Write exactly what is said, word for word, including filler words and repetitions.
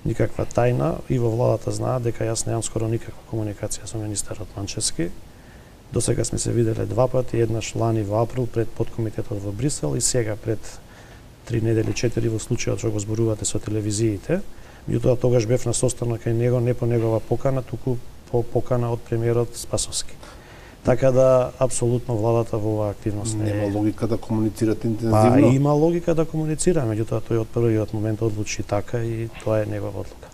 никаква тајна и во владата знаат дека јас немам скоро никаква комуникација со министерот Манчевски. До сега сме се виделе два пати, еднаш лани во април пред подкомитетот во Брисел и сега пред три недели, четири во случајот што го зборувате со телевизиите. Меѓутоа тогаш бев на состанок кај него не по негова покана, туку по покана од премиерот Спасовски. Така да апсолутно владата во оваа активност не е. Нема логика да комуницирате интензивно. Па има логика да комуницира, меѓутоа тој од првиот момент одлучи така и тоа е негова одлука.